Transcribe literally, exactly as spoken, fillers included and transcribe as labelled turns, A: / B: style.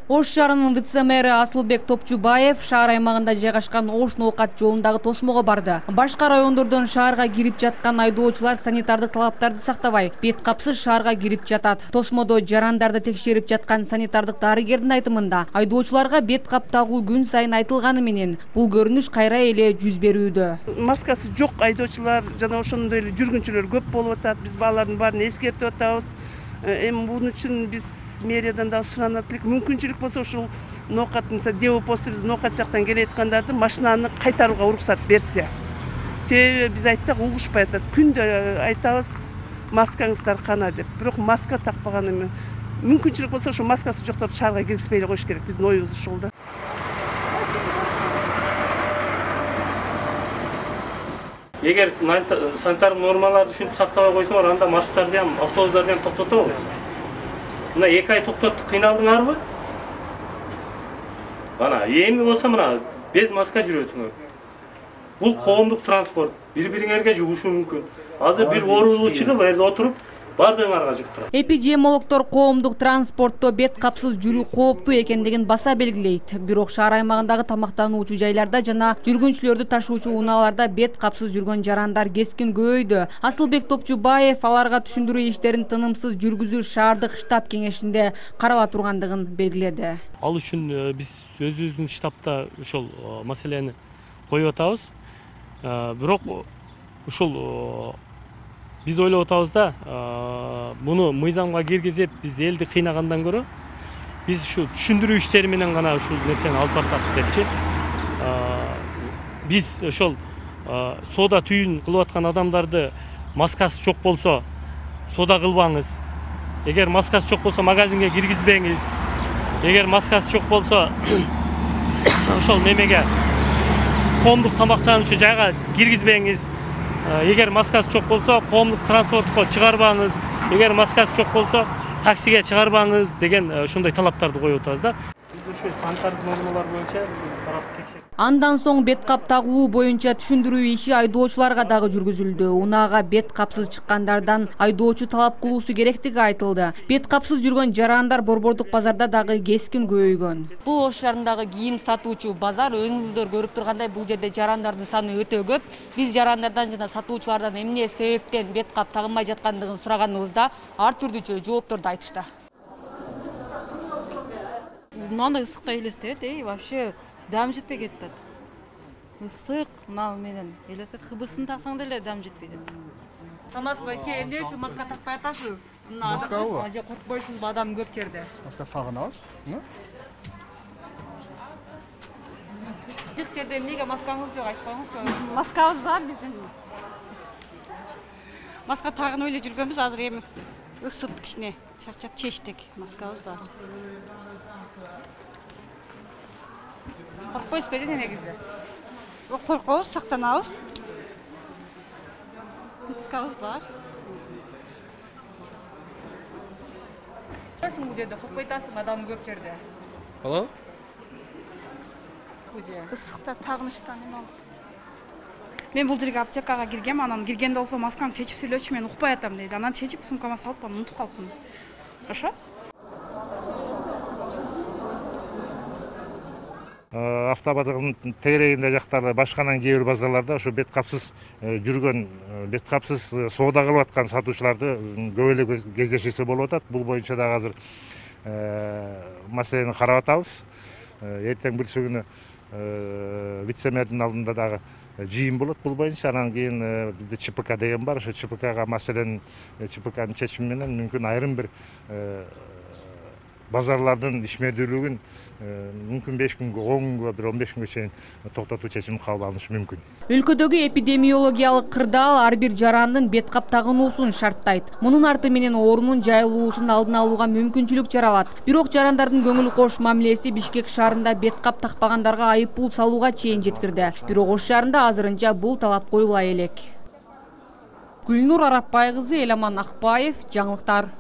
A: Ош шаарынын вице-мэри Асылбек Топчубаев шаар аймагында жайгашкан Ош Ноокат жолундагы тосмого барды. Башка райондордон шаарга кирип жаткан айдоочулар санитардык талаптарды сактабай, бет капсыз шаарга кирип жатат. Тосмодо жарандарды текшерип жаткан санитардык дарыгердин айтымында, айдоочуларга бет кап тагуу күн сайын айтылганы менен бул көрүнүш кайра эле жүз берүүдө.
B: Маскасы жок айдоочулар жана ошондой эле жүргүнчүлөр көп болуп атат. Биз балардын баарын эскертип атабыз. Эми бунун үчүн биз мэриядан да суранат элек. Мүмкүнчүлүк болсо ушул Ноокат, мисалы, Депо-посту биз Ноокат жактан келеткандарды машинаны кайтарууга уруксат берсе. Себеби биз айтсак угушпай атат. Күндө айтабыз, маскаңыздар кана деп. Бирок маска такпаган эми. Мүмкүнчүлүк болсо ошо маскасы жокторду шаарга киргизбей эле коюш керек. Биздин оюбуз ушул да.
C: Эгер санитар нормаларды ушинтип сактабай койсоңор, анда маршруттарды ham, автобустарды ham токтотобуз. Мына эки ай токтоттук, кыйналдыңарбы? Мына эми болсо мына без маска жүрөсүңөр. Бул коомдук транспорт, бири-бириңерге жугушу мүмкүн. Азыр бир оорулуу чыгып, жерде отуруп, бардыгыңарга жуктурат.
A: Эпидемиологдор коомдук транспортто бет капсыз жүрүү кооптуу экендигин баса белгилейт. Бирок шаар аймагындагы тамактануучу жайларда жана жүргүнчүлөрдү ташуучу унааларда бет капсыз жүргөн жарандар кескин көбөйдү. Асылбек Топчубаев аларга түшүндүрүү иштерин тынымсыз жүргүзүү шаардык штаб кеңешинде карала тургандыгын белгиледи.
C: Ал үчүн биз өзүбүздүн штабта ошол маселени коюп атабыз. Бирок ушул биз ойлоп атабыз да, буну мыйзамга киргизип, биз элди кыйнагандан көрө, биз ушу түшүндүрүү иштери менен гана ушул нерсени алып барсак депчи. Биз ошол соода түйүн кылып аткан адамдарды маскасы жок болсо, соода кылбаңыз. Эгер маскасы жок болсо, магазинге киргизбеңиз. Эгер маскасы жок болсо, ошол немеге коомдук тамактануучу жайга киргизбеңиз. Эгер маскасы жок болсо, коомдук транспортко чыгарбаңыз. Эгер маскасы жок болсо, таксиге чыгарбаңыз деген ушундай талаптарды коюп атабыз да. Биз ошо санитардык нормалар боюнча карап текшердик.
A: Андан соң бет кап тагуу боюнча түшүндүрүү иши айдоочуларга дагы жүргүзүлдү. Унаага бет капсыз чыккандардан айдоочу талап кылуусу керектиги айтылды. Бет капсыз жүргөн жарандар Борбордук базарда дагы кескин көбөйгөн. Бул Ош шаарындагы кийим сатуучу базар, өзүңүздөр көрүп тургандай, бул жерде жарандардын саны өтө көп. Биз жарандардан жана сатуучулардан эмне себептен бет кап тагынбай жаткандыгын сураганыбызда ар түрдүүчө жоопторду айтышты.
D: Мынандай ысыкта элестет, эй, вообще дам жетпей кетет. Ысык, мына менен элестет, хыбысын таксаң деле дам жетпей кетет.
A: Тамас байке, эмне үчүн маска такпай атасыз?
E: Маскабы?
A: Ажа коркпойсузбу, адам көп жерде?
E: Маска тагынабыз.
A: Жык жерде эмнеге маскаңыз жок, айтпаңызчы.
D: Маскабыз бар биздин. Маска тагынып эле жүргөнбүз, азыр эми ысып кичине чарчап чечтик. Маскабыз бар.
A: Коркпойсузбу эне негизи?
D: Коркобуз, сактанабыз. Маскабыз бар.
A: Сиң бул жерде коркпой атасың, адам көп жерде.
F: Алло?
D: Ысыкта тагыныштан эме болуп. Мен бул жерге аптекага киргем, анан киргенде болсо маскамды чечип сүйлөчү, мен укпай атам дейт. Анан чечип сумкама салып, анан унутуп калыпмын. Ошо?
G: Автобазардын тегерегинде жактарда, башканан кээ бир базарларда ошо бет капсыз жүргөн, бет капсыз соода кылып аткан сатуучуларды көп эле кездешүүсү болуп атат. Бул боюнча дагы азыр маселени карап атабыз. Эртең бүрсү күнү вице-мэрдин алдында дагы жыйын болот бул боюнча. Анан кийин бизде ЧПК деген бар. Ошо ЧПКга маселенин ЧПКнын чечими менен мүмкүн айрым бир базарлардын ишмердүүлүгүн мүмкүн беш күнгө, он күнгө, бир он беш күнгө чейин токтотуу чечим кабыл алынышы мүмкүн.
A: Өлкөдөгү эпидемиологиялык кырдаал ар бир жарандын бет кап тагынуусун шарттайт. Мунун арты менен оорунун жайылуусун алдын алууга мүмкүнчүлүк жаралат. Бирок жарандардын көңүл кош мамилеси Бишкек шаарында бет кап такпагандарга айып пул салууга чейин жеткирди. Бирок Ош шаарында азырынча бул талап коюла элек. Гүлнур Арапбай кызы, Эламан Акбаев, жаңылыктар.